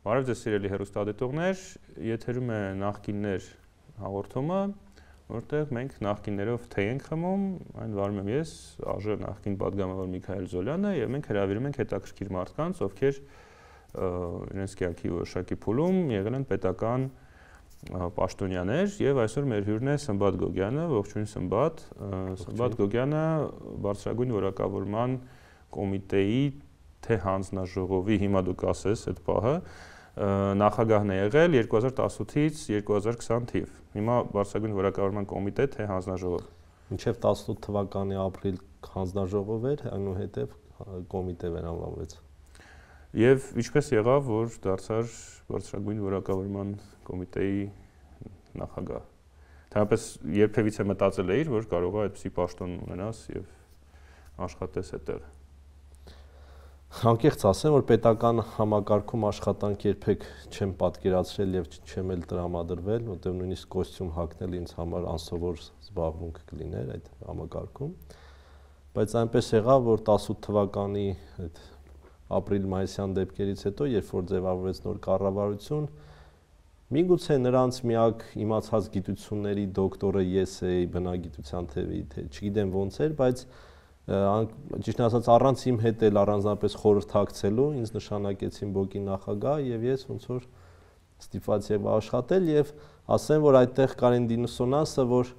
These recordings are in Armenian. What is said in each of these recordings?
Բարև ձեզ սիրելի հեռուստադիտողներ, եթերում է նախկիններ հաղորդումը, որտեղ մենք նախկիններով թեյ ենք խմում, այն վարում եմ ես, ԱԺ նախկին պատգամավոր Միքայել Զոլյանը, եւ մենք հրավիրում ենք հետաքրքիր մարդկանց, ովքեր իրենց կյանքի որոշակի փուլում եղել են պետական պաշտոնյաներ, եւ այսօր մեր հյուրն է Սմբատ Գոգյանը, ողջույն Սմբատ, Սմբատ Գոգյանը բարձրագույն որակավորման կոմիտեի թե հանձնաժողովի, հիմա դուք ասես այդ պահը, նախագահն է եղել 2018-ից 2020 թիվ։ Հիմա բարձրագույն որակավորման կոմիտե թե հանձնաժողով։ Մինչև 18 թվականի ապրիլ հանձնաժողով էր, այնուհետև կոմիտե վերանվանվեց։ Եվ ինչպես եղավ, որ դարձար բարձրագույն որակավորման կոմիտեի նախագահ։ Դրանպես երբևիցե մտածել էիր, որ կարող է այդպիսի պաշտոն ունենաս եւ աշխատես այդտեղ։ Անկեղծ ասեմ, որ պետական համակարգում աշխատանք երբեք չեմ պատկերացրել եւ չեմ էլ տրամադրվել, որտեղ նույնիսկ կոստյում հագնել ինձ համար անսովոր զբաղմունք կլիներ այդ համակարգում։ Բայց այնպես եղավ, որ 18 թվականի այդ ապրիլ-մայիսյան դեպքերից հետո, երբ որ ձևավորվեց նոր կառավարություն, միգուցե նրանց միակ իմացած գիտությունների դոկտորը ես էի բնագիտության թևի, թե չգիտեմ ոնց էր, բայց ճիշտ ասած առանց իմ հետ էլ առանձնապես խորհրդակցելու ինձ նշանակեցին ԲՕԿ-ի նախագահ եւ ես ոնց որ ստիպված եղա աշխատել եւ ասեմ որ այդտեղ կար այն դինուսոնանսը որ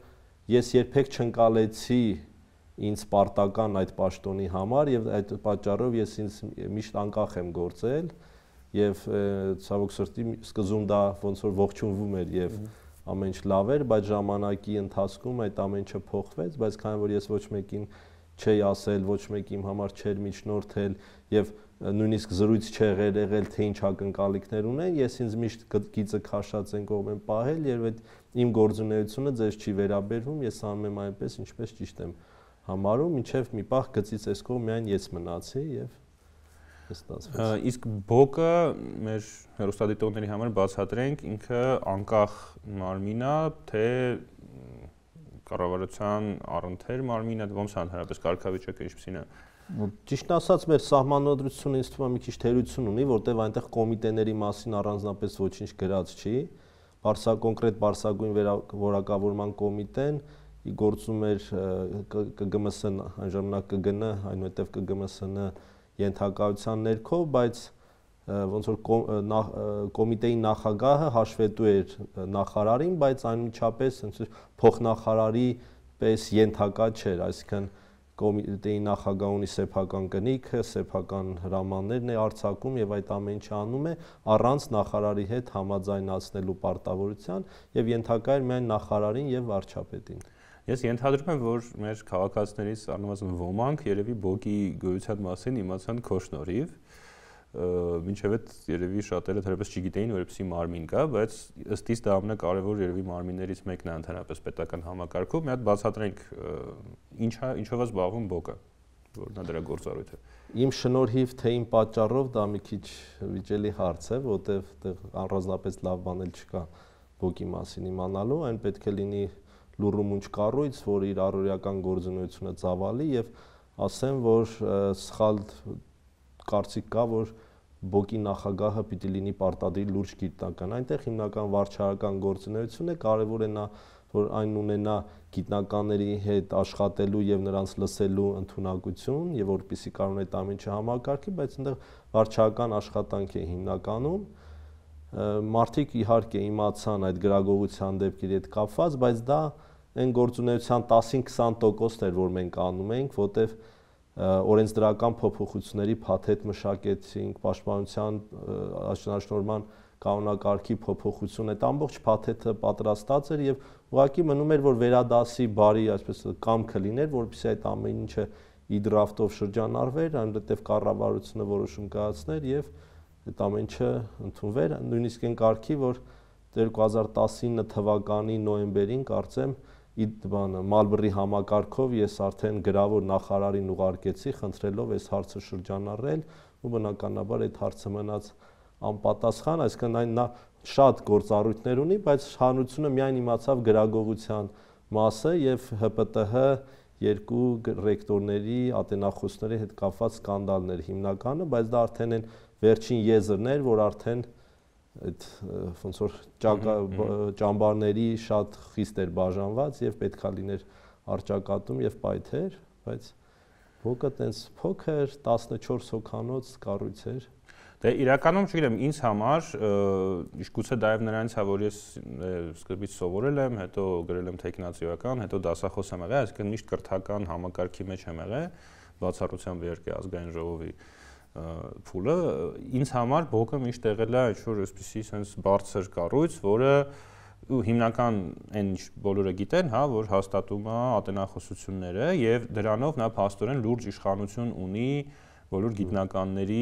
ես երբեք չընկալեցի ինձ պարտական այդ պաշտոնի համար եւ այդ պատճառով ես ինձ միշտ անկախ եմ գործել եւ ցավոք սրտի սկզբում դա ոնց որ ողջունվում էր եւ ամեն ինչ լավ էր բայց ժամանակի ընթացքում այդ ամեն ինչը փոխվեց բայց քանի որ ես ոչ մեկին չի ասել, ոչ մեկ իմ համար չէր միջնորդել եւ նույնիսկ զրույց չեղեր եղել, թե ինչ ակնկալիքներ ունեն, ես ինձ միշտ գիծը քաշած են կողմ եմ պահել եւ այդ իմ գործունեությունը ձեզ չի վերաբերվում, ես անում եմ այնպես, ինչպես ճիշտ եմ համարում, մինչեւ մի պահ գծից այս կողմ միայն ես մնացի եւ ստացվեց։ Իսկ ԲՕԿ-ը մեր հեռուստադիտողների համար բացատրենք, ինքը անկախ մարմին է, թե կառավարության առընթեր մարմինը ոնց ընդհանրապես կարգավիճակը ինչպիսին է։ Ճիշտ ասած մեր սահմանադրությունը ինձ թվում է մի քիչ թերություն ունի, որտեղ այնտեղ կոմիտեների մասին առանձնապես ոչինչ գրած չի։ Կոնկրետ Բարսագույն որակավորման կոմիտեն գործում էր ԿԳՄՍ այն ժամանակ ԿԳՆ, այնուհետև ԿԳՄՍ-ն ենթակայության ներքո, բայց ոնց որ կոմիտեի նախագահը հաշվետու էր նախարարին, բայց անմիջապես փոխնախարարի պես ենթակա չէր, այսինքն կոմիտեի նախագահը ունի սեփական կնիքը, սեփական հրամաններն է արձակում եւ այդ ամեն ինչը անում է առանց նախարարի հետ համաձայնացնելու պարտավորության եւ ենթակա էր միայն նախարարին եւ վարչապետին։ Ես ենթադրում եմ, որ մեր քաղաքացիներից առնվազն ոմանք երևի ԲՕԿ-ի գոյության մասին իմացան քո շնորհիվ, մինչև այդ երևի շատերը դեռևս չգիտեին, որ այդպիսի մարմին կա, բայց ըստ իս դա ամենակարևոր երևի մարմիններից մեկն է ընդհանրապես պետական համակարգում։ Մի հատ բացատրենք ինչով է զբաղվում ԲՕԿ-ը, որն է դրա գործառույթը։ Իմ շնորհիվ թե իմ պատճառով դա մի քիչ վիճելի հարց է, որտեղ առանձնապես լավ բան էլ չկա ԲՕԿ-ի մասին իմանալու, այն պետք է լինի լուռումունջ կառույց, որ իր առօրյական գործունեությունը ծավալի եւ ասեմ, որ սխալ կարծիք կա, որ ԲՕԿ-ի նախագահը պիտի լինի պարտադիր լուրջ գիտնական։ Այնտեղ հիմնական վարչարական գործունեություն է, կարևոր է նա, որ այն ունենա գիտնականների հետ աշխատելու եւ նրանց լսելու ընդունակություն եւ որպեսզի կարող այդ ամեն ինչը համակարգի, բայց այնտեղ վարչարական աշխատանք է հիմնականում։ Մարդիկ իհարկե իմացան այդ գրագողության դեպքերի հետ կապված, բայց դա այն գործունեության 10-20%-ն էր, որ մենք անում էինք, որտեղ օրենսդրական փոփոխությունների փաթեթ մշակեցինք, պաշտպանության աշնանշնորհման կանոնակարգի փոփոխություն, այդ ամբողջ փաթեթը պատրաստած էր եւ ուղղակի մնում էր որ վերադասի բարի, այսպես կամքը լիներ, որպեսզի այդ ամեն ինչը իդրաֆտով շրջանառվեր, այնուհետեւ կառավարությունը որոշում կայացներ եւ այդ ամեն ինչը ընդունվեր, նույնիսկ այն կարգի, որ 2019 թվականի նոյեմբերին կարծեմ Մալբրի համակարգով ես արդեն գրավոր նախարարին ուղարկեցի, խնդրելով այս հարցը շրջանառել ու բնականաբար այդ հարցը մնաց անպատասխան, այսինքն այն նա շատ գործառույթներ ունի, բայց հանրությունը միայն իմացավ գրագողության մասը եւ ՀՊՏՀ երկու ռեկտորների, ատենախոսների հետ կապված սկանդալներ հիմնականը, բայց դա արդեն են վերջին եզրներ, որ արդեն այդ ոնց որ ճամբարների շատ խիստ էր բաժանված եւ պետքա լիներ արճակատում եւ պայթեր, բայց ոգը տենց փոքր 14 հոգանոց կառույց էր։ Դե իրականում չգիտեմ, ինձ համար գուցե դայև նրանից է, որ ես սկզբից սովորել եմ, հետո գրել եմ տեխնացիական, հետո դասախոս եմ եղել, այսինքն միշտ կրթական համակարգի մեջ եմ եղել, բացառությամբ իհարկե ազգային ժողովի փուլը, ինձ համար բոկը միշտ եղել է ինչ-որ այսպիսի sense բարձր կառույց, որը հիմնական այն բոլորը գիտեն, հա, որ հաստատում է ատենախոսությունները եւ դրանով նա փաստորեն լուրջ իշխանություն ունի բոլոր գիտնականների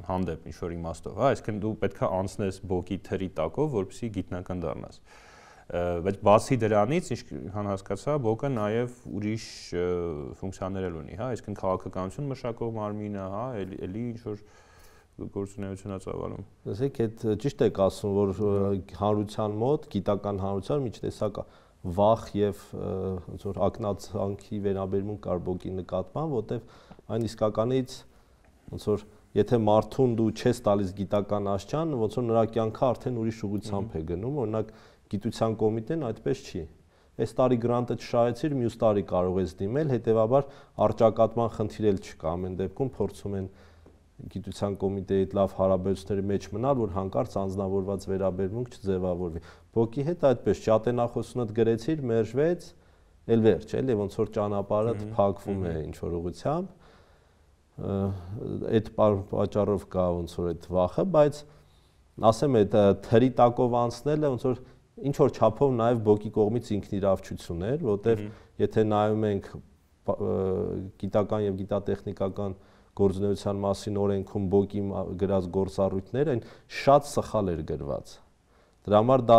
հանդեպ ինչ-որ իմաստով, հա, այսինքն դու պետքա անցնես բոկի թրի տակով, որպեսզի գիտնական դառնաս։ Բայց բացի դրանից, ինչքան հասկացա, բոկը նաև ուրիշ ֆունկցիաներ էլ ունի, հա, այսինքն քաղաքականություն մշակող մարմին է, հա, էլի ինչ որ գործունեություն է ծավալում։ Ասեք, այդ ճիշտ եք ասում, որ հանրության մոտ, գիտական հանրության միջտեսակ վախ եւ ոնց որ ակնածանքի վերաբերմունք կար բոկի նկատմամբ, որտեվ այն իսկականից ոնց որ եթե մարդուն դու չես տալիս գիտական աշճան, ոնց որ նրա կյանքը արդեն ուրիշ ուղղությամբ է գնում, օրինակ գիտության կոմիտեն այդպես չի։ Այս տարի գրանտը չշահեցիր, մյուս տարի կարող ես դիմել, հետեւաբար արճակատման խնդիր էլ չկա, ամեն դեպքում փորձում են գիտության կոմիտեի հետ լավ հարաբերությունների մեջ մնալ, որ հանկարծ անձնավորված վերաբերմունք չձևավորվի։ Բոկի հետ այդպես չի, ատենախոսունդ գրեցիր, մերժվեց, էլ վերջ, էլի ոնց որ ճանապարհը փակվում է ինչ որ ուղղությամբ։ Այդ պատճառով կա ոնց որ այդ վախը, բայց ասեմ այդ թրի տակով անցնելը ոնց որ ինչ որ չափով նաև բոկի կողմից ինքնիրավչություն էր, որտեվ եթե նայում ենք գիտական եւ գիտատեխնիկական գործունեության մասին օրենքում բոկի գրած գործառույթներ, այն շատ սխալ էր գրված։ Դրա համար դա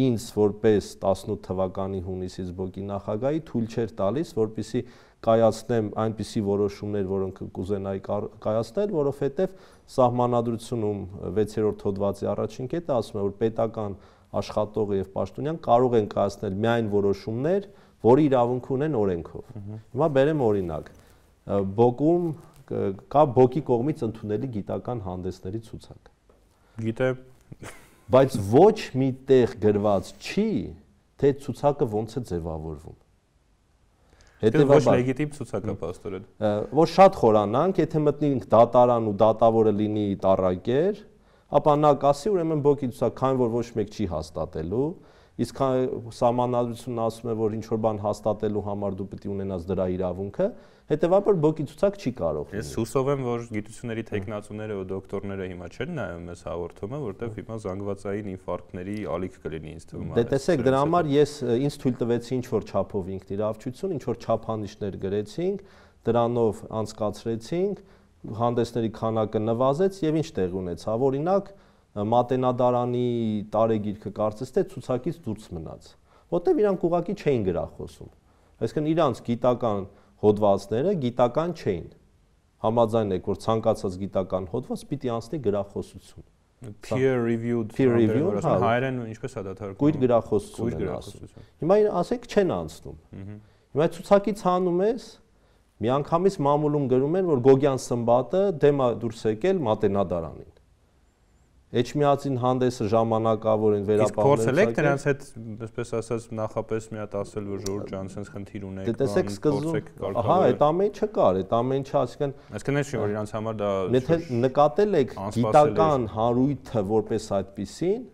ինձ որպես 18 թվականի հունիսից բոկի նախագահի թույլ չէր տալիս, որպեսզի կայացնեմ այնպիսի որոշումներ, որոնք կուզենայի կայացնել, որովհետև սահմանադրությունում 6-րդ հոդվածի առաջին կետը ասում է, որ պետական աշխատողը եւ պաշտոնյան կարող են կայացնել միայն որոշումներ, որի իրավունք ունեն օրենքով։ Հիմա բերեմ օրինակ։ Բոկում կա բոկի կողմից ընդունելի գիտական հանդեսների ցուցակ։ Գիտեմ, բայց ոչ մի տեղ գրված չի, թե ցուցակը ոնց է ձևավորվում։ Հետևաբար ոչ լեգիտիմ ցուցակ է պաստորեն։ Որ շատ խորանանք, եթե մտնենք դատարան ու դատավորը լինի տառակեր, ապա նա կասի, ուրեմն բոկի ցուցակ, քանի որ ոչ մեկ չի հաստատելու, իսկ սահմանադրությունն ասում է, որ ինչ որ բան հաստատելու համար դու պետք է ունենաս դրա իրավունքը, հետևաբար բոկի ցուցակ չի կարող լինել։ Ես հուսով եմ, որ գիտությունների տեխնացուները ու դոկտորները հիմա չեն նայում այս հաղորդումը, որտեղ հիմա զանգվածային ինֆարկտների ալիք կլինի ինձ թվում է։ Դե տեսեք, դրա համար ինձ թույլ տվեցի ինչ որ չափով ինքնիրավչություն, ինչ որ չափանիշներ գրեցինք, դրանով անցկացրեցինք, հանդեսների քանակը նվազեց եւ ինչ տեղ ունեցավ, օրինակ Մատենադարանի տարեգիրքը կարծես թե ցուցակից դուրս մնաց, որտեղ իրանք ուղղակի չէին գրախոսում։ Այսինքն իրանք գիտական հոդվածները գիտական չէին։ Համաձայն եք, որ ցանկացած գիտական հոդված պիտի անցնի գրախոսություն։ Peer reviewed, հայերեն ինչպես է դա թարգմանվում։ Կույր գրախոսություն են ասում։ Հիմա ասեք չեն անցնում։ Հիմա ցուցակից հանում ես, միանգամից մամուլում գրում են, որ Գոգյան Սմբատը դեմ է դուրս եկել Մատենադարանին։ Էջմիածին հանդեսը ժամանակավոր են վերապահել։ Իսկ փորձել եք դրանց հետ, այսպես ասած, նախապես մի հատ ասել, որ Ժորժ ջան, sense խնդիր ունեք, դե տեսեք սկզբում, ահա, այդ ամեն չկար, այդ ամեն չէ, այսինքն չէ, որ իրանց համար դա եթե նկատել եք գիտական հարույթը որպես այդպիսին,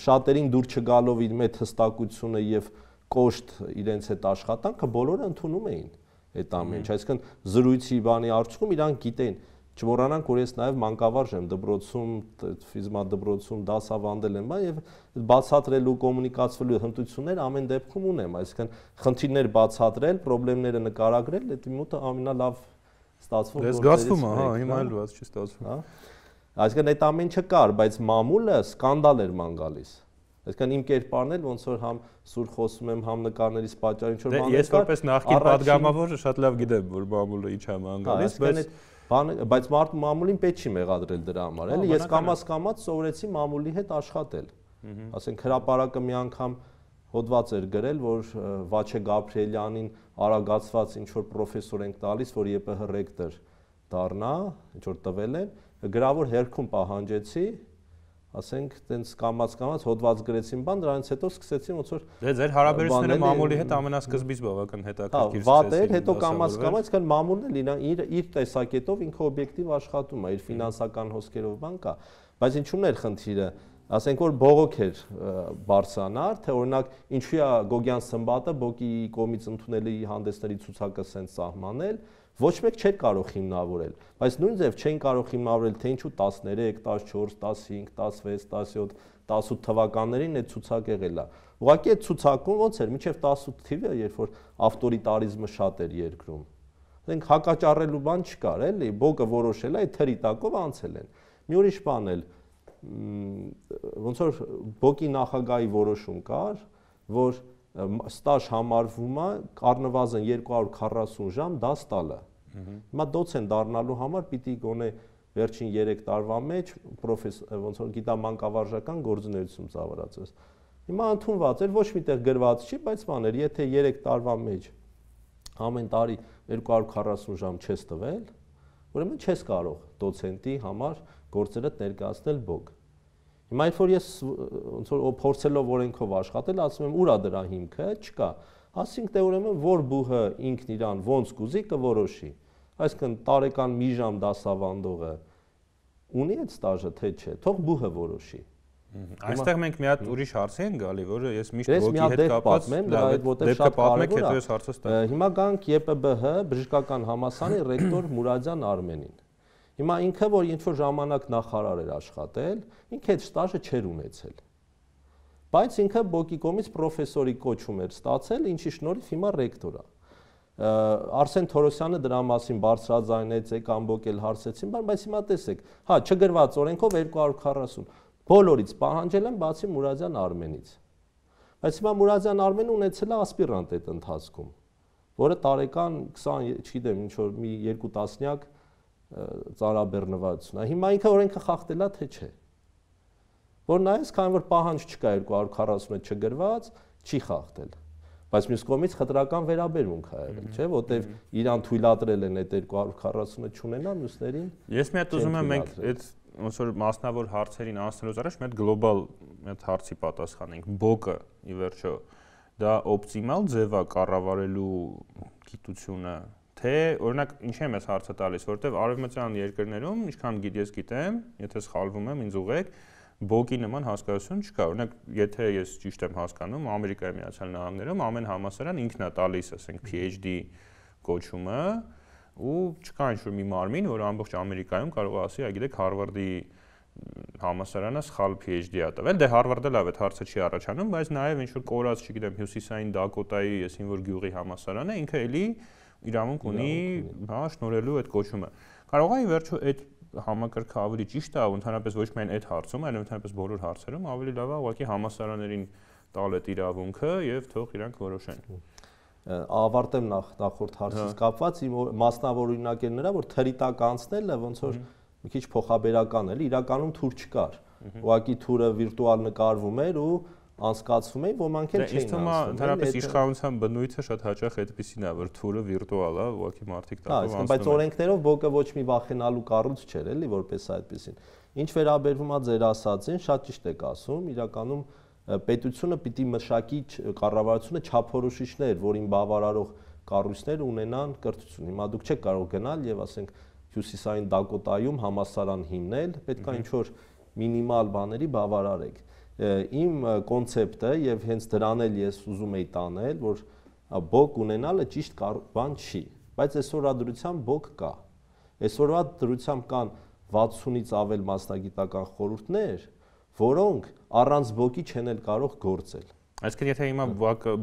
շատերին դուր չգալով իր մեծ հստակությունը եւ կոշտ իրենց հետ աշխատանքը բոլորը ընդունում էին այդ ամեն ինչ, այսինքն զրույցի բանի արդյունքում իրանք գիտեն։ Չմոռանանք, որ ես նաև մանկավարժ եմ դպրոցում, ֆիզմա դպրոցում դասավանդել եմ, եւ բացատրելու, կոմունիկացվելու հմտություններ ամեն դեպքում ունեմ, այսինքն խնդիրներ բացատրել, խնդիրները նկարագրել, դա մոտը ամենալավ ստացվում։ Դες զգացվում է, հա, հիմա էլ ված չի ստացվում։ Հա։ Այսինքն այդ ամեն չկար, բայց մամուլը սկանդալ էր ման գալիս։ Այսինքն իմ կերպարն էլ ոնց որ համ սուր խոսում եմ, համ նկարներից պատճառ ինչ որ բաներ կար։ Ես որպես նախկին падգամավոր շատ լավ գիտեմ, որ մամուլը ինչ է ման գալիս, բայց մամուլին պետք չի մեղադրել դրա համար, էլի ես կամաց սովորեցի մամուլի հետ աշխատել։ Ասենք հրապարակը մի անգամ հոդված էր գրել, որ Վաչե Գաբրիելյանին արագացված ինչ որ պրոֆեսոր ենք տալիս, որ ԵՊՀ ռեկտոր դառնա, ինչ որ տվել են, գրավոր հերքում պահանջեցի, ասենք, տենց կամած հոդված գրեցին բան, դրանից հետո սկսեցին ոնց որ դե ձեր հարաբերությունները մամուլի հետ ամենասկզբից բավական հետաքրքիր վատ էր, հետո կամած այսքան մամուլն էլ իր տեսակետով ինքը օբյեկտիվ աշխատում է, իր ֆինանսական հոսքերով բան կա, բայց ինչու՞մն էր խնդիրը, ասենք որ բողոք էր բարձրանար, թե օրինակ ինչու է Գոգյան Սմբատը բոկի կողմից ընդունելի հանդեսների ցուցակը սենց սահմանել, ոչ մեկ չէր կարող հիմնավորել, բայց նույն ձև չէին կարող հիմնավորել, թե ինչու 13, 14, 15, 16, 17, 18 թվականներին այդ ցուցակ եղել է։ Ուղղակի այդ ցուցակում ոնց էր, մինչև 18 թիվը, երբ որ ավտորիտարիզմը շատ էր երկրում։ Ասենք հակաճառելու բան չկար, էլի, բոկը որոշել է, այդ թրի տակով անցել են։ Մի ուրիշ բան էլ ոնց որ բոկի նախագահի որոշում կար, որ ստաժ համարվում է առնվազն 240 ժամ դաս տալը։ Հիմա դոցեն դառնալու համար պիտի գոնե վերջին 3 տարվա մեջ ոնց որ գիտամանկավարժական գործունեություն ծավալացես։ Հիմա ընդունված էր, ոչ միտեղ գրված չի, բայց բաներ, եթե 3 տարվա մեջ ամեն տարի 240 ժամ չես տվել, ուրեմն չես կարող դոցենտի համար գործերդ ներկայացնել բոկ։ Հիմա երբ որ ես ոնց որ փորձելով օրենքով աշխատել, ասում եմ ուրա դրա հիմքը, չկա։ Ասինքն դե ուրեմն որ բուհը ինքն իրան ոնց կուզի կորոշի։ Այսինքն տարեկան մի ժամ դասավանդողը ունի այդ ստաժը թե չէ, թող բուհը որոշի։ Այստեղ մենք մի հատ ուրիշ հարցի ենք գալի, որը ես միշտ բոկի հետ կապված որտեղ շատ կարևոր է։ Հետո ես հարցը ստա։ Հիմա գանք ԵՊԲՀ բժշկական համալսարանի ռեկտոր Մուրադյան Արմենին։ Հիմա ինքը որ ինչ-որ ժամանակ նախարար էր աշխատել, ինքը այդ ստաժը չէր ունեցել։ Բայց ինքը բոկի կողմից պրոֆեսորի կոչում էր ստացել, ինչի շնորհիվ հիմա ռեկտոր է։ Արսեն Թորոսյանը դրա մասին բարձրաձայնեց, ամբողջ էլ հարցեցին, բայց հիմա տեսեք, հա, չգրված օրենքով 240 բոլորից պահանջել են բացի Մուրադյան Արմենից։ Բայց հիմա Մուրադյան Արմենը ունեցել է ասպիրանտ այդ ընթացքում, որը տարեկան 20, չգիտեմ, ինչ որ մի 2 տասնյակ ծարաբեռնվածություն է։ Հիմա ինքը օրենքը խախտելա թե չէ։ Որ նայես, քանի որ պահանջ չկա 240-ը չգրված, չի խախտել։ Բայց մյուս կողմից խտրական վերաբերմունք է եղել, չէ՞, որտեվ իրան թույլատրել են այդ 240-ը չունենա, մյուսներին։ Ես մի հատ ուզում եմ մենք այդ ոնց որ մասնավոր հարցերին անցնելուց առաջ մի հատ գլոբալ այդ հարցի պատասխանենք։ Բոկը ի վերջո դա օպտիմալ ձև է կառավարելու գիտությունը, թե օրինակ ինչի եմ ես հարցը տալիս, որովհետև արևմտյան երկրներում, ինչքան ես գիտեմ, եթե սխալվում եմ, ինձ ուղղեք, բոկի նման հասկացություն չկա։ Օրինակ, եթե ես ճիշտ եմ հասկանում, Ամերիկայի Միացյալ Նահանգներում ամեն համալսարան ինքն է տալիս, ասենք, PhD կոչումը, ու չկա ինչ-որ մի մարմին, որ ամբողջ Ամերիկայում կարող է ասի, այգիտեք, Հարվարդի համալսարանը սխալ PhD-ա տվել։ Դե Հարվարդը լավ է, հարցը չի առաջանում, բայց նաև ինչ-որ կորած, չգիտեմ, Հյուսիսային Դակոտայի, այսին որ գյուղի համալսարանը ինքը էլի իրավունք ունի, հա, շնորհելու այդ կոչումը։ Կարող է ի վերջո այդ համակարգը ավելի ճիշտ է, ընդհանրապես ոչ միայն այդ հարցում, այլ ընդհանրապես բոլոր հարցերում ավելի լավ է ուղղակի համալսարաններին տալ այդ իրավունքը եւ թող իրանք որոշեն։ Ավարտեմ նախորդ հարցից կապված իմ մասնավոր օրինակն նրա, որ թրի տակ անցնելը ոնց որ մի քիչ փոխաբերական էր, իրականում թուր չկար։ Ուղղակի թուրը վիրտուալ նկարվում էր ու անցկացվում էին, ոմանք էլ չէին անցնում։ Ընդհանրապես իշխանության բնույթը շատ հաճախ այդպեսին է, որ թուրը վիրտուալ է, ուղղակի մարդիկ տակով անցնում են։ Բայց օրենքներով բոկը ոչ մի վախենալու կառույց չէր, էլի, որպես այդպեսին։ Ինչ վերաբերվում է ձեր ասածին, շատ ճիշտ եք ասում, իրականում պետությունը պիտի մշակի կառավարությունը չափորոշիչներ, որին բավարարող կառույցներ ունենան կրթություն։ Հիմա դուք չեք կարող գնալ եւ ասենք Հյուսիսային Դակոտայում համալսարան հիմնել, պետք է ինչ-որ մինիմալ բաների բավարարեք։ Իմ կոնցեպտը եւ հենց դրան էլ ես ուզում եի տանել, որ բոկ ունենալը ճիշտ բան չի, բայց այսօրվա դրությամբ բոկ կա։ Այսօրվա դրությամբ կան 60-ից ավել մասնագիտական խորհուրդներ, որոնք առանց բոկի չեն էլ կարող գործել։ Այսինքն եթե հիմա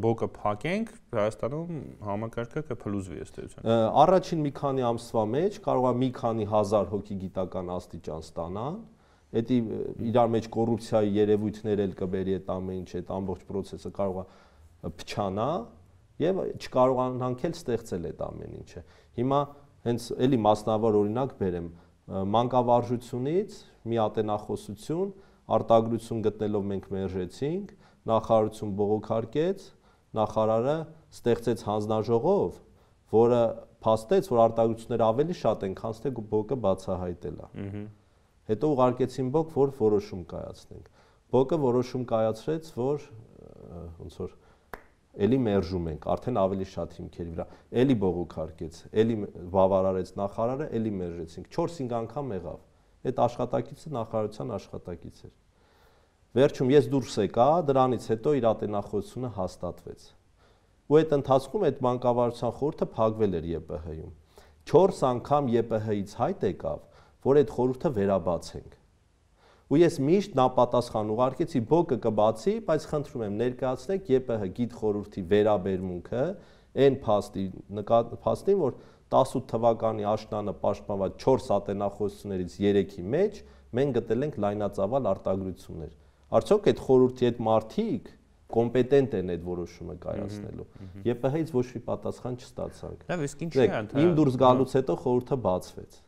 բոկը փակենք, Հայաստանում համակարգը կփլուզվի ըստ էության։ Առաջին մի քանի ամսվա մեջ կարող է մի քանի հազար հոգի գիտական աստիճան ստանան, դա իրար մեջ կոռուպցիայի երևույթներ էլ կբերի այդ ամեն ինչ, այդ ամբողջ process-ը կարող է փչանա եւ չկարողանանք էլ ստեղծել այդ ամեն ինչը։ Հիմա հենց էլի մասնավոր օրինակ բերեմ, մանկավարժությունից մի ատենախոսություն արտադրություն գտնելով մենք մերժեցինք, նախարարություն բողոքարկեց, նախարարը ստեղծեց հանձնաժողով, որը փաստեց, որ արտադրությունները ավելի շատ են, քան թե բոկը բացահայտել է։ Հետո ուղարկեցին բոկ, որ որոշում կայացնենք։ Բոկը որոշում կայացրեց, որ ոնց որ էլի մերժում ենք, արդեն ավելի շատ հիմքերի վրա։ Էլի բողոքարկեց, էլի բավարարեց նախարարը, էլի մերժեցինք։ 4-5 անգամ եղավ։ Այդ աշխատակիցը նախարարության աշխատակից էր։ Վերջում ես դուրս եկա, դրանից հետո իր ատենախոսությունը հաստատվեց։ Ու այդ ընթացքում այդ մանկավարժության խորհուրդը փակվել էր ԵՊՀ-ում։ 4 անգամ ԵՊՀ-ից հայտ եկավ, որ այդ խորհուրդը վերաբացենք։ Ու ես միշտ նապատասխան ուղարկեցի բոկը կբացի, բայց խնդրում եմ ներկայացնեք ԵՊՀ գիտ խորհրդի վերաբերմունքը այն փաստին, որ 18 թվականի աշնանը պաշտպանված 4 ատենախոսություններից 3-ի մեջ մենք գտել ենք լայնածավալ արտագրություններ։ Արդյոք այդ խորհրդի այդ մարդիկ կոմպետենտ են այդ որոշումը կայացնելու։ ԵՊՀ-ից ոչ մի պատասխան չստացանք։ Լավ, իսկ ինչի է ընդհանրապես։ Իմ դուրս գալուց հետո խորհուրդը բացվեց։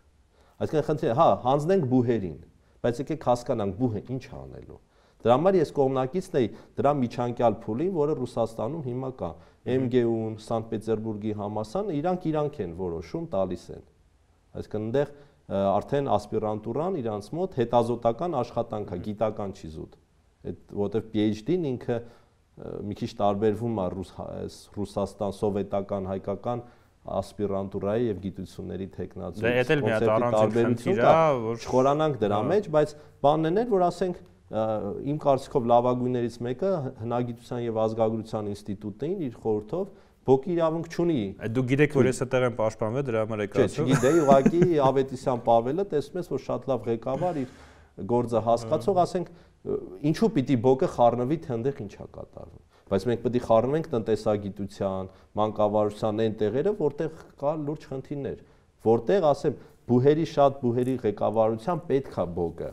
Այսինքն խնդիրը, հա, հանձնենք բուհերին, բայց եկեք հասկանանք բուհը ինչ է անելու։ Դրա համար ես կողմնակիցն էի դրա միջանկյալ փուլին, որը Ռուսաստանում հիմա կա։ MGU-ն, Սանկտ Պետերբուրգի համալսարանը իրանք են որոշում տալիս են։ Այսինքն այնտեղ արդեն ասպիրանտուրան իրանց մոտ հետազոտական աշխատանք է, գիտական չի զուտ։ Այդ որտեվ PhD-ն ինքը մի քիչ տարբերվում է Ռուսաստան սովետական հայկական ասպիրանտուրայի եւ գիտությունների տեխնացու։ Դա էլ մի հատ առանձին խնդիր է, որ չխորանանք դրա մեջ, բայց բանն էր, որ ասենք իմ կարծիքով լավագույններից մեկը հնագիտության եւ ազգագրության ինստիտուտն իր խորհրդով բոկի իրավունք չունի։ Դու գիտեք, որ ես այդտեղ եմ պաշտպանվել, դրա համար եք ասում։ Չէ, չգիտեի, ուղղակի Ավետիսյան Պավելը տեսնում ես, որ շատ լավ ղեկավար իր գործը հասկացող, ասենք, ինչու պիտի բոկը խառնվի, թե այնտեղ ինչ է կատարվում։ Բայց մենք պետք է խառնվենք տնտեսագիտության, մանկավարժության այն տեղերը, որտեղ կա լուրջ խնդիրներ, որտեղ, ասեմ, բուհերի շատ բուհերի ղեկավարության պետք է բոկը,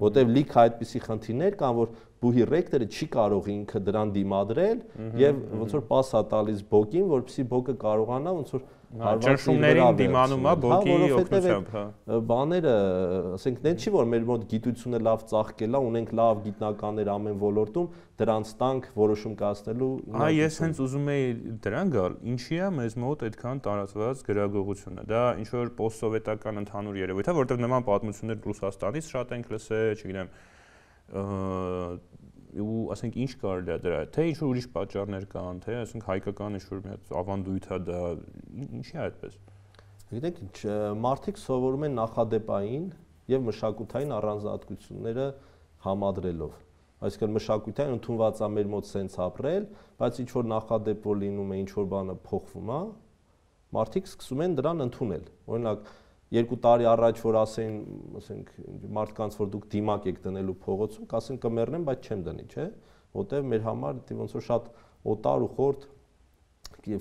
որտեղ լիքը այդպիսի խնդիրներ կան, որ բուհի ռեկտորը չի կարող ինքը դրան դիմադրել եւ ոնց որ պաս է տալիս բոկին, որպեսզի բոկը կարողանա ոնց որ ճնշումներին դիմանում է բոկի օգնությամբ, հա։ Բաները, ասենք, դեն չի որ մեր մոտ գիտությունը լավ ծաղկել է, ունենք լավ գիտնականներ ամեն ոլորտում, դրանց տանք որոշում կայացնելու։ Այ ես հենց ուզում եի դրան գալ, ինչի է մեզ մոտ այդքան տարածված գրագողությունը։ Դա ինչ որ պոստսովետական ընդհանուր երևույթ է, որտեղ նման պատմություններ Ռուսաստանից շատ ենք լսել, չգիտեմ, ու ասենք ինչ կարելի է դրա, թե ինչ որ ուրիշ պատճառներ կան, թե ասենք հայկական ինչ որ մի հատ ավանդույթ է դա, ինչի է այդպես։ Գիտեք, մարդիկ սովորում են նախադեպային եւ մշակութային առանձնահատկությունները համադրելով։ Այսինքն մշակութային ընդունված է մեր մոտ սենց ապրել, բայց ինչ որ նախադեպ որ լինում է, ինչ որ բանը փոխվում է, մարդիկ սկսում են դրան ընդունել։ Օրինակ 2 տարի առաջ որ ասեն, ասենք, մարդկանց որ դուք դիմակ եք դնելու փողոցում, կասեն կմեռնեմ, բայց չեմ դնի, չէ՞, որտեղ մեր համար ոնց որ շատ օտար ու խորտ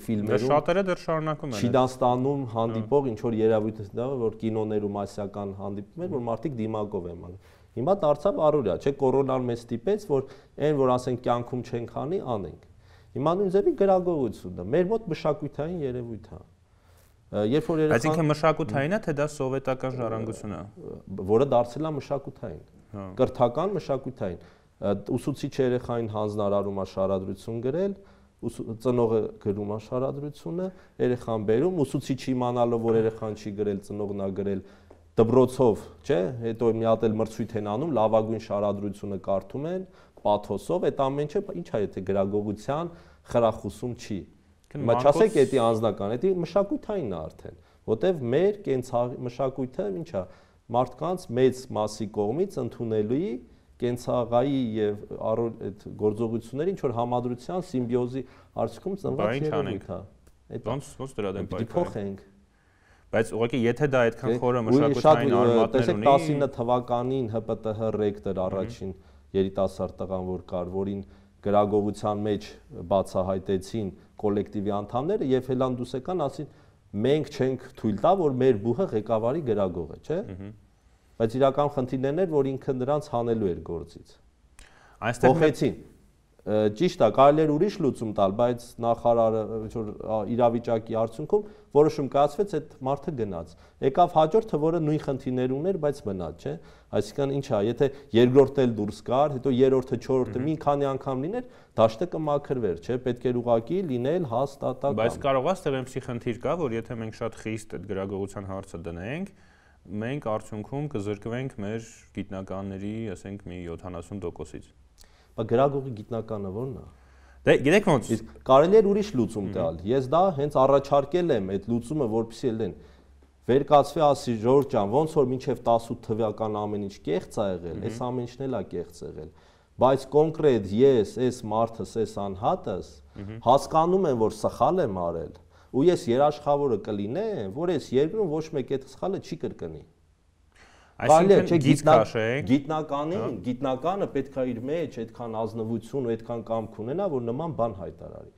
ֆիլմերում շատերը դեռ շարունակում են։ Չինաստանում հանդիպող ինչ որ երևույթ է, որ կինոներում ասիական հանդիպում էր, որ մարդիկ դիմակով են անում։ Հիմա դարձավ առօրյա, չէ՞, կորոնան մեզ ստիպեց, որ այն որ ասենք կյանքում չենք անի, անենք։ Հիմա նույն ձևի գրագողությունը մեր մոտ մշակութային երևույթ է։ Երբ որ երեխան Այսինքն մշակութային է, թե դա սովետական ժառանգություն է, որը դարձել է մշակութային։ Կրթական մշակութային։ Ուսուցիչը երեխային հանձնարարում է շարադրություն գրել, ծնողը գրում է շարադրությունը, երեխան բերում, ուսուցիչը իմանալով որ երեխան չի գրել, ծնողն է գրել դբրոցով, չէ՞, հետո մի հատ էլ մրցույթ են անում, լավագույն շարադրությունը կարդում են, պաթոսով, այդ ամեն ինչը ինչ է, եթե գրագողության խրախուսում չի։ Հիմա չասեք էդի անձնական, էդի մշակութային է արդեն, որտեվ մեր կենցաղի մշակույթը ինչ է, մարդկանց մեծ մասի կողմից ընդունելի կենցաղայի եւ այդ գործողությունների ինչ որ համադրության սիմբիոզի արդյունքում ծնված երևույթ է։ Այդ ոնց դրա դեմ պայքարենք։ Փոխենք։ Բայց ուղղակի եթե դա այդքան խորը մշակութային արմատներ ունի, տեսեք 19 թվականին ՀՊՏՀ ռեկտոր առաջին երիտասարդ տղան որ կար, որին գրագողության մեջ բացահայտեցին կոլեկտիվի անդամները եւ հելան դուս եկան, ասին մենք չենք թույլ տա, որ մեր բուհը ղեկավարի գրագող է, չէ՞։ Բայց իրական խնդիրներն էր, որ ինքը նրանց հանելու էր գործից։ Այստեղ փոխեցին։ Ճիշտ է, կարելի էր ուրիշ լուծում տալ, բայց նախարարը ինչ-որ իրավիճակի արդյունքում որոշում կայացվեց, այդ մարդը գնաց։ Եկավ հաջորդը, որը նույն խնդիրներ ուներ, բայց մնաց, չէ՞։ Այսինքն ինչ է, եթե երկրորդը էլ դուրս գար, հետո երրորդը, չորրորդը մի քանի անգամ լիներ, դաշտը կմաքրվեր, չէ՞, պետք էր ուղղակի լինել հաստատական։ Բայց կարող է ստեղ այնպեսի խնդիր կա, որ եթե մենք շատ խիստ այդ գրագողության հարցը դնենք, մենք արդյունքում կզրկվենք մեր գիտնականների, ասենք, մի 70%-ից։ Բայց գրագողի գիտնականը ո՞րն է։ Դե գիտեք ոնց։ Իսկ կարելի է ուրիշ լուծում տալ։ Ես դա հենց առաջարկել եմ այդ լուծումը, որպեսզի ելեն վերկացվի, ասի Ժորժ ջան, ոնց որ մինչև 18 թվական ամեն ինչ կեղծ ա եղել, այս ամեն ինչն էլ ա կեղծ եղել։ Բայց կոնկրետ ես, այս մարդս, այս անհատս հասկանում եմ, որ սխալ եմ արել, ու ես երաշխավորը կլինեմ, որ այս երկրում ոչ մեկ այդ սխալը չի կրկնի։ Այսինքն գիտնականը պետք է իր մեջ այդքան ազնվություն ու այդքան կամք ունենա, որ նման բան հայտարարի։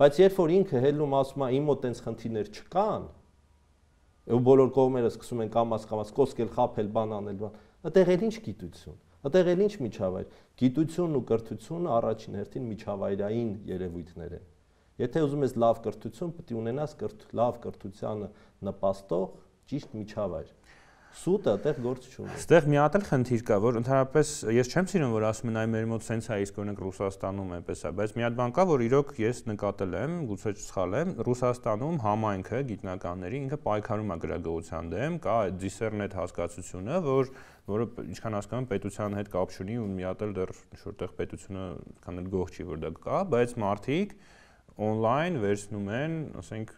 Բայց երբ որ ինքը հելնում ասում է իմ մոտ այնց խնդիրներ չկան, ու բոլոր կողմերը սկսում են կամաց կոսկել, խաբել, բան անել, այդտեղ էլ ինչ գիտություն, այդտեղ էլ ինչ միջավայր։ Գիտությունն ու կրթությունը առաջին հերթին միջավայրային երևույթներ են։ Եթե ուզում ես լավ կրթություն, պետք է ունենաս լավ կրթությանը նպաստող ճիշտ միջավայր։ Սուտը այդտեղ գործ չունի։ Այստեղ մի հատ էլ խնդիր կա, որ ընդհանրապես ես չեմ սիրում, որ ասում են այ մեր մոտ սենց է, իսկ օրինակ Ռուսաստանում այնպես է, բայց մի հատ բան կա, որ իրոք ես նկատել եմ, գուցե սխալ եմ, Ռուսաստանում համայնքը գիտնականների ինքը պայքարում է գրագողության դեմ, կա այդ դիսերնետ հասկացությունը, որը ինչքան հասկանում եմ պետության հետ կապ չունի ու մի հատ էլ դեռ ինչ-որտեղ պետությունը քան էլ գող չի, որ դա կա, բայց մարդիկ on-line վերցնում են, ասենք,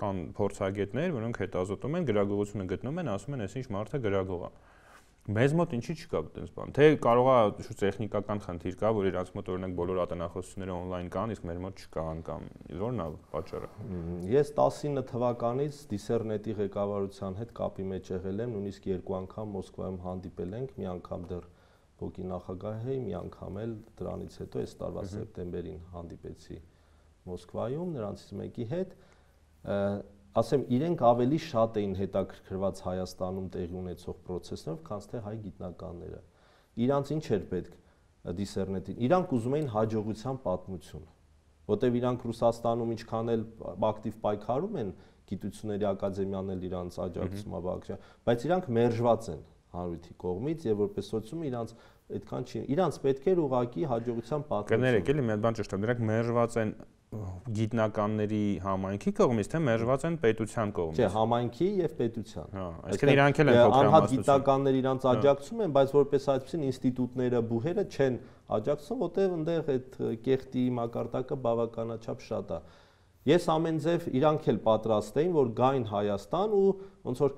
կան փորձագետներ, որոնք հետազոտում են, գրագողությունը գտնում են, ասում են, այսինչ մարդը գրագող է։ Մեզ մոտ ինչի չկա այդպես բան։ Թե կարող է շուտ տեխնիկական խնդիր կա, որ իրանց մոտ օրինակ բոլոր ատենախոսությունները on-line կան, իսկ մեր մոտ չկան կամ ո՞րն է պատճառը։ Ես 19 թվականից դիսերնետի ղեկավարության հետ կապի մեջ եղել եմ, նույնիսկ 2 անգամ Մոսկվայում հանդիպել ենք, մի անգամ դեռ ԲՕԿ-ի նախագահի, մի անգամ էլ դրանից հետո այս տարվա սեպտեմբերին հանդիպեցի Մոսկվայում նրանցից մեկի հետ, ասեմ, իրենք ավելի շատ էին հետաքրքրված Հայաստանում տեղի ունեցող process-ներով, քան թե հայ գիտնականները։ Իրանց ինչ էր պետք դիսերնետին։ Իրանք ուզում էին հաջողության պատմություն, որտեղ իրանք Ռուսաստանում ինչքան էլ ակտիվ պայքարում են, գիտությունների ակադեմիան էլ իրանց աջակցում է բաղկացիա, բայց իրանք մերժված են հանրույթի կողմից եւ որպես սոցիում իրանց այդքան չի։ Իրանց պետք էր ուղղակի հաջողության պատմություն։ Կներեք, էլի մի հատ բան ճշտեմ, դրանք մերժված են գիտնականների համայնքի կողմից, թե մերժված են պետության կողմից։ Չէ, համայնքի եւ պետության։ Հա, այսինքն իրանք էլ են փոքր անհատ գիտնականներ իրանց աջակցում են, բայց որպես այդպեսին ինստիտուտները, բուհերը չեն աջակցում, որտեղ այնտեղ այդ կեղտի մակարդակը բավականաչափ շատ է։ Ես ամեն ձև իրանք էլ պատրաստ էին, որ գային Հայաստան ու ոնց որ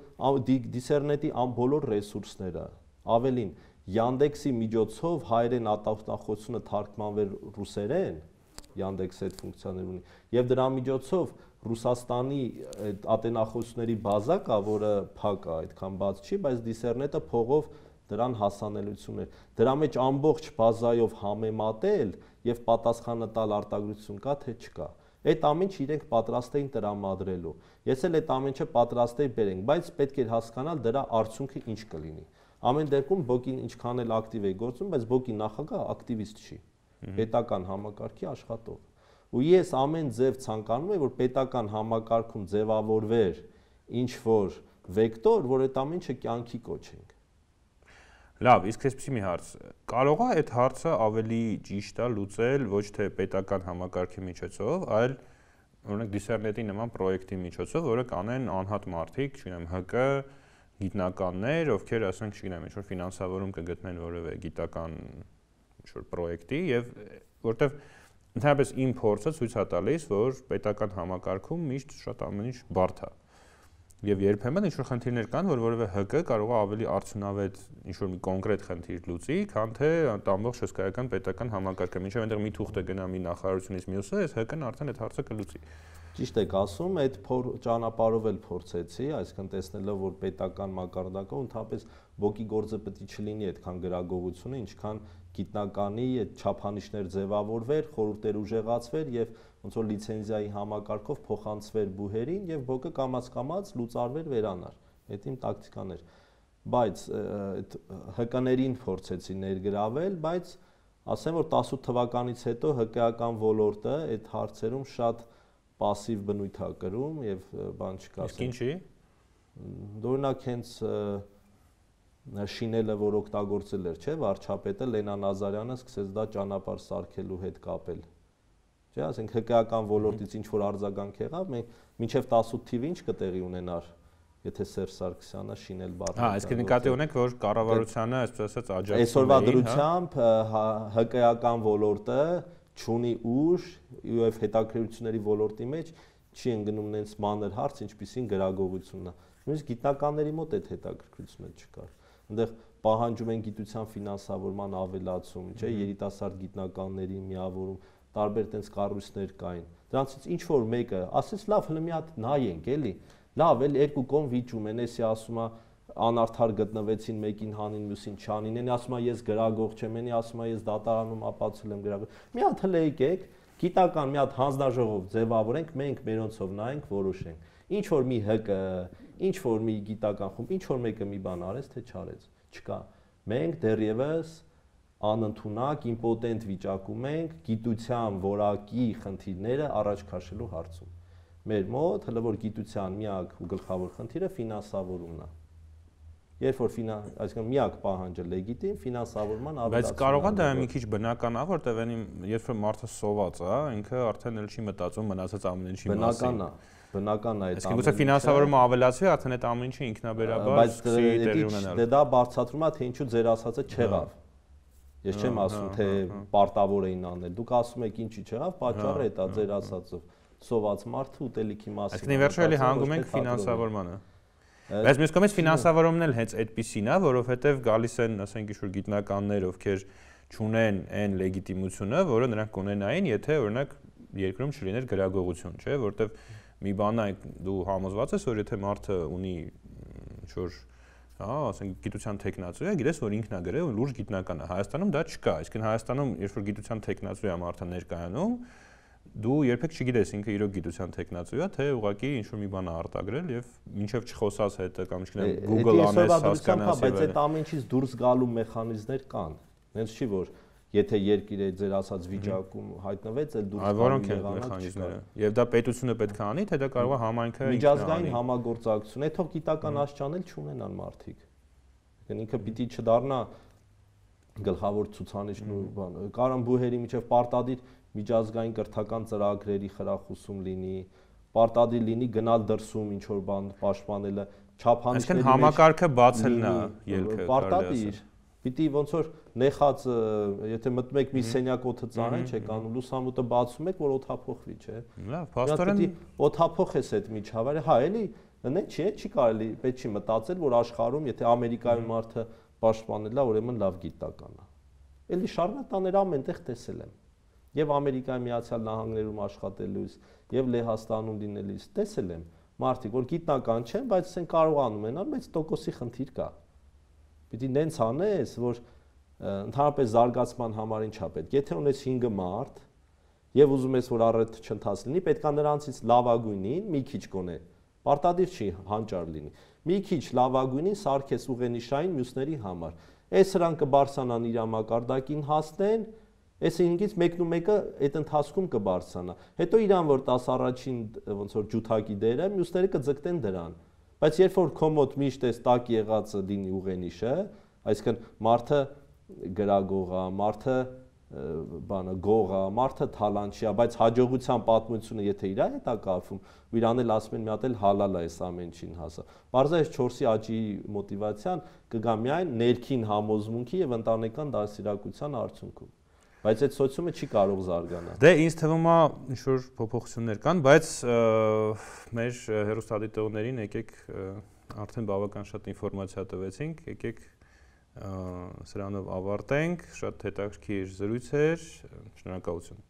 դիսերնետի բոլոր ռեսուրսները, ավելին Yandex-ի միջոցով հայերեն ատախտախոսությունը թարգմանվեր ռուսերեն, Yandex-ը այդ ֆունկցիաներ ունի, եւ դրա միջոցով Ռուսաստանի այդ ատենախոսությունների բազա կա, որը փակ է, այդքան բաց չի, բայց դիսերնետը փողով դրան հասանելիություն էր։ Դրա մեջ ամբողջ բազայով համեմատել եւ պատասխանը տալ արտադրություն կա թե չկա։ Այդ ամենը իրենք պատրաստ էին տրամադրելու։ Ես էլ այդ ամենը պատրաստ էի բերենք, բայց պետք էր հասկանալ դրա արդյունքը ինչ կլինի։ Ամեն դեպքում ԲՕԿ-ին ինչքան էլ ակտիվ էի գործում, բայց ԲՕԿ-ի նախագահը ակտիվիստ չի։ Պետական համակարգի աշխատող։ Ու ես ամեն ձև ցանկանում եմ, որ պետական համակարգում ձևավորվեր ինչ որ վեկտոր, որ այդ ամենը կյանքի կոչենք։ Լավ, իսկ այսպեսի մի հարց։ Կարող է այդ հարցը ավելի ճիշտ է լուծել ոչ թե պետական համակարգի միջոցով, այլ օրինակ դիսերնետի նման պրոյեկտի միջոցով, որը կանեն անհատ մարդիկ, չգիտեմ, ՀԿ գիտնականներ, ովքեր ասենք, չգիտեմ, ինչ որ ֆինանսավորում կգտնեն որևէ գիտական ինչ որ պրոյեկտի եւ որտեվ ընդհանրապես իմ փորձը ցույց է տալիս, որ պետական համակարգում միշտ շատ ամեն ինչ բարդ է։ Եվ երբեմն ինչ որ խնդիրներ կան, որ որևէ ՀԿ կարող է ավելի արդյունավետ ինչ որ մի կոնկրետ խնդիր լուծի, քան թե ամբողջ հսկայական պետական համակարգը։ Մինչև այնտեղ մի թուղթ գնա մի նախարարությունից մյուսը, այս ՀԿ-ն արդեն այդ հարցը կլուծի։ Ճիշտ եք ասում, այդ ճանապարհով էլ փորձեցի, այսինքն տեսնելով, որ պետական մակարդակով ընդհանրապես ԲՕԿ-ի գործը պետք է չլինի այդքան գրագողությունը, ինչքան գիտնականի այդ չափանիշներ ձևավորվեր, խորհուրդներ ուժեղացվեր եւ ոնց որ լիցենզիայի համակարգով փոխանցվեր բուհերին եւ ԲՕԿ-ը կամաց լուծարվեր վերանար։ Այդ իմ տակտիկան էր։ Բայց այդ ՀԿ-ներին փորձեցի ներգրավել, բայց ասեմ որ 18 թվականից հետո ՀԿ-ական ոլորտը այդ հարցերում շատ պասիվ բնույթ է կրում եւ բան չկա։ Իսկ ինչի։ Օրինակ հենց շինելը, որ օգտագործել էր, չէ, վարչապետը Լենա Նազարյանը սկսեց դա ճանապարհ սարքելու հետ կապել։ Չէ, ասենք ՀԿ-ական ոլորտից ինչ որ արձագանք եղավ, մենք մինչև 18 թիվը ինչ կտեղի ունենար եթե Սերժ Սարգսյանը շինել բառը։ Այսինքն նկատի ունեք, որ կառավարությանը, այսպես ասած, աջակցում այսօրվա դրությամբ ՀԿ-ական ոլորտը չունի ուժ եւ հետաքրքրությունների ոլորտի մեջ չի ընկնում նենց մանր հարց, ինչպիսին գրագողությունն է։ Նույնիսկ գիտնականների մոտ այդ հետաքրքրությունը չկար։ Այնտեղ պահանջում են գիտության ֆինանսավորման ավելացում, չէ, երիտասարդ գիտնականների միավորում, տարբեր տենց կառույցներ կային։ Դրանցից ինչ որ մեկը ասես լավ, հələ մի հատ նայենք, էլի։ Լավ, էլ երկու կողմ վիճում են, էսի ասում է անարդար գտնվեցին, մեկին հանին, մյուսին չանին, էնի ասում է ես գրագող չեմ, էնի ասում է ես դատարանում ապացուցել եմ գրագող։ Մի հատ հələ եկեք, գիտական մի հատ հանձնաժողով ձևավորենք, մենք մերոնցով նայենք, որոշենք։ Ինչ որ մի ՀԿ, ինչ որ մի գիտական խումբ, ինչ որ մեկը մի բան արեց, թե չարեց, չկա։ Մենք դեռևս անընդունակ, իմպոտենտ վիճակում ենք գիտության որակի խնդիրները առաջ քաշելու հարցում։ Մեր մոտ հələ որ գիտության միակ ու գլխավոր խնդիրը ֆինանսավորումն է։ Երբ որ այսինքն միակ պահանջը լեգիտիմ ֆինանսավորման ավելացումն է։ Բայց կարող է դա մի քիչ բնական է, որտեղ երբ որ մարդը սոված է, ինքը արդեն էլ չի մտածում մնացած ամեն ինչի մասին։ Բնական է այդ ամենը։ Իսկ ֆինանսավորումը ավելացվի, արդեն այդ ամեն ինչը ինքնաբերաբար սկսի տեղի ունենալ։ Բայց դա բարձրացնում է, թե ինչու ձեր ասածը չեղավ։ Ես չեմ ասում, թե պարտավոր էին անել։ Դուք ասում եք ինչի չեղավ, պատճառը է դա ձեր ասածով։ Սոված մարդը ուտելիքի մասին։ Այսինքն վերջը էլի հանգում ենք ֆինանսավորմանը։ Բայց մյուս կողմից ֆինանսավորումն էլ հենց այդպիսին է, որովհետև գալիս են, ասենք, ինչ-որ գիտնականներ, ովքեր չունեն այն լեգիտիմությունը, որը նրանք կունենային, եթե օրինակ երկրում չլիներ գրագողություն, չէ՞, որովհետև մի բան է դու համոզված ես, որ եթե մարդը ունի ինչ-որ, ասենք, գիտության տեխնացու է, գիտես, որ ինքն է գրել ու լուրջ գիտնական է։ Հայաստանում դա չկա, այսինքն Հայաստանում, երբ որ գիտության տեխնացու է մարդը ներկայանում, դու երբեք չգիտես ինքը իրոք գիտության տեխնացու է, թե ուղղակի ինչ-որ մի բան է արտագրել եւ մինչեւ չխոսած հետը կամ չգիտեմ Google անես հասկանաս, բայց այդ ամեն ինչից դուրս գալու մեխանիզմներ կան։ Հենց չի որ եթե երկիրը ձեր ասած վիճակում հայտնվեց, էլ դուրս որոնք են մեխանիզմները։ Եվ դա պետությունը պետք է անի, թե դա կարող է համայնքը միջազգային համագործակցություն, այդ թող գիտական աշճանել չունենան մարդիկ։ Ինքը պիտի չդառնա գլխավոր ցուցանիշն ու բան։ Կարան բուհերի միջև պարտադիր միջազգային կրթական ծրագրերի խրախուսում լինի, պարտադիր լինի գնալ դրսում ինչ որ բան պաշտպանելը, չափանիշների մեջ։ Այսինքն համակարգը բացելն է ելքը։ Պարտադիր պիտի ոնց որ նեխած, եթե մտնում եք մի սենյակ օդը ծանեն, չէ, կան լուսամուտը բացում եք, որ օդափոխվի, չէ։ Լավ, փաստորեն պիտի օդափոխես այդ միջավայրը, հա, էլի, նե չի կարելի, պետք չի մտածել, որ աշխարհում, եթե Ամերիկայում մարդը պաշտպանել է, ուրեմն լավ գիտական է։ Էլի շարլատաներ ամենտեղ տեսել եմ։ Եվ Ամերիկայի Միացյալ Նահանգներում աշխատելուց, եւ Լեհաստանում լինելիս տեսել եմ մարդիկ, որ գիտնական չեն, բայց ասեն կարողանում են, բայց տոկոսի խնդիր կա։ Պիտի նենց անես, որ ընդհանրապես զարգացման համար ինչա պետք։ Եթե ունես 5 մարդ եւ ուզում ես որ առեթ չընթաց լինի, պետքա նրանցից լավագույնին մի քիչ գոնե պարտադիր չի հանճար լինի։ Մի քիչ լավագույնին սարքես ուղենիշային մյուսների համար։ Այս հրանք կբարձրանան իր մակարդակին հասնեն, այս 5-ից մեկն ու մեկը այդ ընթացքում կբարձրանա։ Հետո իրան որ 10 առաջին ոնց որ ջութակի դերը, մյուսները կձգտեն դրան։ Բայց երբ որ քո մոտ միշտ էս տակ եղածը լինի ուղենիշը, այսինքն մարդը գրագող է, մարդը բանը գող է, մարդը թալանչի է, բայց հաջողության պատմությունը եթե իր հետ է կապվում, ու իրան էլ ասում են մի հատ էլ հալալ է այս ամեն ինչին հասա։ Բարձրաց 4-ի աճի մոտիվացիան կգա միայն ներքին համոզմունքի եւ ընտանեկան դաստիարակության արդյունքում։ Բայց այդ սոցիումը չի կարող զարգանալ։ Դե ինձ թվում է ինչ-որ փոփոխություններ կան, բայց մեր հեռուստադիտողներին եկեք արդեն բավական շատ ինֆորմացիա տվեցինք, եկեք սրանով ավարտենք, շատ հետաքրքիր զրույց էր, շնորհակալություն։